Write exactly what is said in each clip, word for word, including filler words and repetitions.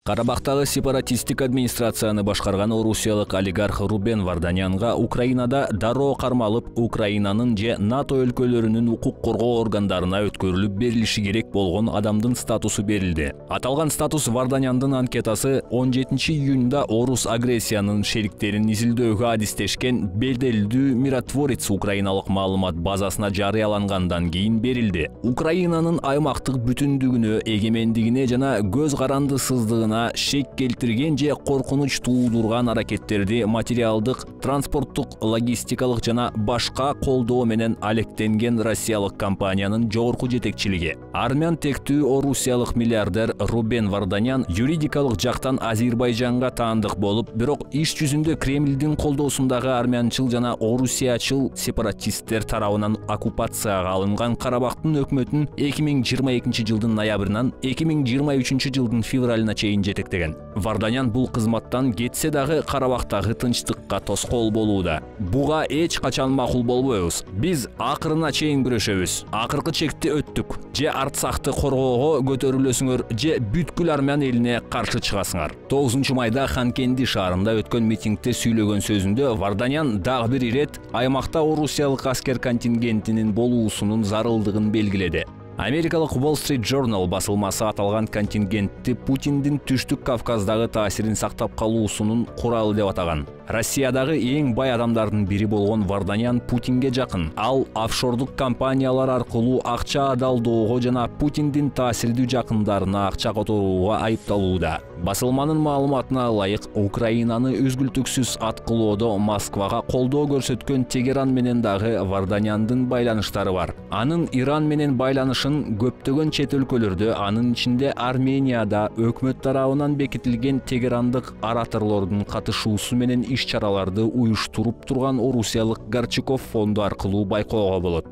Карабактагы сепаратисттик администрацияны башкарган орусиялык олигарх Рубен Варданянга Украинада дароо кармалып, Украинанын же НАТО өлкөлөрүнүн укук коргоо органдарына өткөрүлүп берилиши керек болгон адамдын статусу берилди. Аталган статус Варданяндын анкетасы он жетинчи июнда орус агрессиянын шериктерин изилдөөгө адистешкен беделдүү Миротворец украиналык маалымат базасына жарыялангандан кийин берилди. Украинанын аймактык бүтүндүгүнө, эгемендигине жана көз карандысыздыгына шек келтирген же коркунуч туудурган аракеттерди материалдык, транспорттук, логистикалык жана башка колдоо менен алектенген россиялык компаниянын жогорку жетекчилиги. Армян тектүү орусиялык миллиардер Рубен Варданян юридикалык жактан Азербайжанга таандык болуп, бирок иш жүзүндө Кремлдин колдоосундагы армянчыл жана орусиячыл сепаратисттер тарабынан оккупацияга алынган Карабактын өкмөтүн эки миң жыйырма экинчи жылдын ноябрынан эки миң жыйырма үчүнчү жылдын февралына чейин жетектеген. Варданян бул кызматтан кетсе дагы Карабактагы тынчтыкка тоскоол болууда. Буга эч качан макул болбойбуз. Биз акырына чейин күрөшөбүз. Акыркы чекти өттүк. Же Арцахты коргоого көтөрүлөсүңөр, же бүткүл армян элине каршы чыгасыңар. тогузунчу майда Ханкенди шаарында өткөн митингде сүйлөгөн сөзүндө Варданян дагы бир ирет аймакта орусиялык аскер контингентинин болуусунун зарылдыгын белгиледи. Америкалык Wall Street Journal басылмасы аталган контингентти Путиндин Түштүк Кавказдагы таасирин сактап калуусунун куралы деп атаган. Россиядагы эң бай адамдардын бири болгон Варданян Путинге жакын. Ал офшордук компаниялар аркылуу акча адалдоого жана Путиндин таасирдүү жакындарына акча которууга айыпталууда. Басылманын маалыматына ылайык, Украинаны үзгүлтүксүз аткылоодо Москвага колдоо көрсөткөн Тегеран менен дагы Варданяндын байланыштары бар. Анын Иран менен байланышын көптөгөн чет өлкөлөрдө, анын ичинде Арменияда өкмөт тарабынан бекитилген тегерандык ораторлордун катышуусу менен иш-чараларды уюштуруп турган орусиялык Горчаков фонду аркылуу байкоого болот.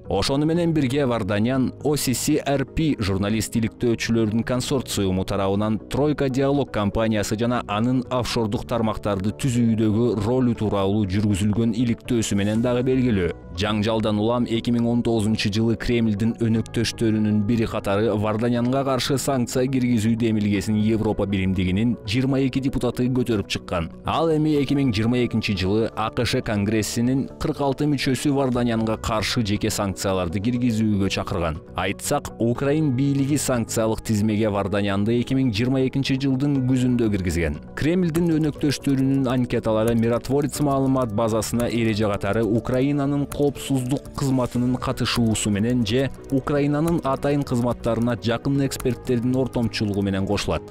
Ошону менен бирге Варданян о си си эр пи журналист иликтөөчүлөрдүн консорциуму тарабынан Тройка диалог компаниясы жана анын офшордук тармактарды түзүүдөгү ролу тууралуу жүргүзүлгөн иликтөөсү менен дагы белгилүү. Жаңжалдан улам эки миң он тогузунчу жылы Кремлдин өнөктөштөрүнүн бири катары Варданянга каршы санкция киргизүү демилгесин Европа биримдигинин жыйырма эки депутаты көтөрүп чыккан. Ал эми эки миң жыйырма экинчи жылы а ка ш Конгрессинин кырк алты мүчөсү Варданянга каршы жеке санкцияларды киргизүүгө чакырган. Айтсак, Украин бийлиги санкциялык тизмеге Варданянды эки миң жыйырма экинчи жылдын күзүндө киргизген. Кремлдин өнөктөштөрүнүн анкеталары Миротворец маалымат базасына эреже катары Украинанын коопсуздук кызматынын катышуусу менен же Украинанын атайын кызматтарына жакын эксперттердин ортомчулугу менен кошулат.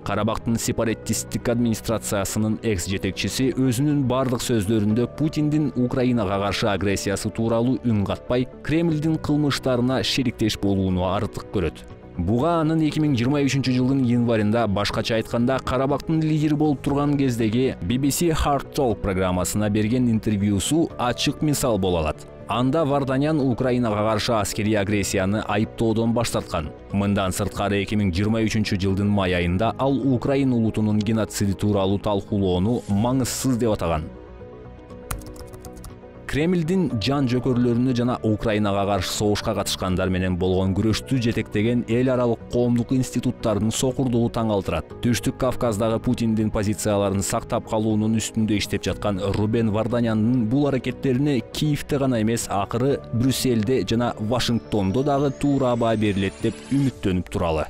Карабактын сепаратисттик администрациясынын экс-жетекчиси өзүнүн бардык сөздөрүндө Путиндин Украинага каршы агрессиясы тууралуу үн катпай, Кремлдин кылмыштарына шериктеш болууну артык көрөт. Буга анын эки миң жыйырма үчүнчү жылдын январында, башкача айтканда, Карабактын лидери болуп турган кездеги би би си Hard Talk программасына берген интервьюсу ачык мисал боло алат. Анда Варданян Украинага каршы аскерий агрессияны айыптоодон баш тарткан. Мындан сырткары эки миң жыйырма үчүнчү жылдын май айында ал Украин улутунун геноциди тууралуу талкуулоону маңызсыз деп атаган. Кремлдин жан жөкөрлөрүнө жана Украинага каршы согушка катышкандар менен болгон күрөштү жетектеген эл аралык коомдук институттардын сокурдугу таң калтырат. Түштүк Кавказдагы Путиндин позицияларын сактап калуунун үстүндө иштеп жаткан Рубен Варданяндын бул аракеттерине Киевте гана эмес, акыры Брюссельде жана Вашингтондо дагы туура баа берилет деп үмүттөнүп туралы.